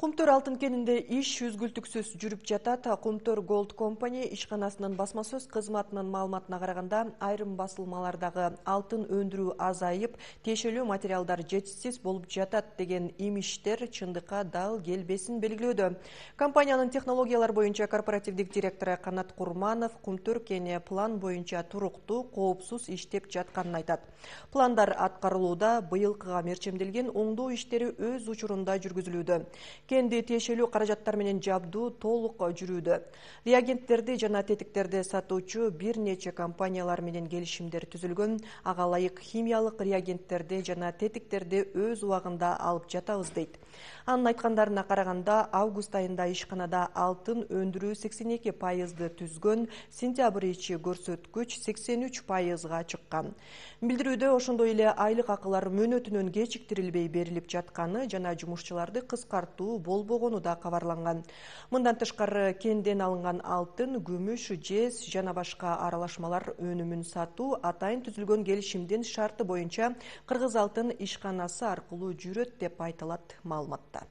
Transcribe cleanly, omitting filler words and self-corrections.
Кумтөр алтын кенинде иш үзгүлтүксүз жүрүп жатат. Кумтөр Gold Company ишканасынын басма сөз кызматынын маалыматына караганда, айрым басылмалардагы алтын өндүрүү азайып, тиешелүү материалдар жетишсиз болуп жатат деген имиштер чындыкка дал келбесин белгилөөдө. Компаниянын технологиялар боюнча корпоративдик директору Канат Курманов Кумтөр кени план боюнча туруктуу, коопсуз иштеп жатканын айтат. Пландар аткарылууда, быйылкыга мерчемделген оңдоо иштери өз учурунда жүргүзүлүүдө. Кенди тиешелүү каражаттар менен жабдуу толук жүрүүдө. Реагенттерди жана тетиктерди сатуучу бир нече компаниялар менен келишимдер түзүлгөн. Ага ылайык химиялык реагенттерди жана тетиктерди өз убагында алып жатабыз дейт. Анын айткандарына караганда, август айында ишканада алтын өндүрүү 82% түзгөн, сентябрь ичи көрсөткүч 83%га чыккан. Билдирүүдө ошондой эле айлык акылар мөөнөтүнөн кечиктирилбей берилип жатканы жана жумушчуларды кыскартуу болбогону да кабарланган. Мындан тышкары кенден алынган алтын, күмүш, жез жана башка аралашмалар өнүмүн сатуу атайын түзүлгөн келишимдин шарты боюнча Кыргыз алтын ишканасы аркылуу жүрөт деп айтылат маалыматта.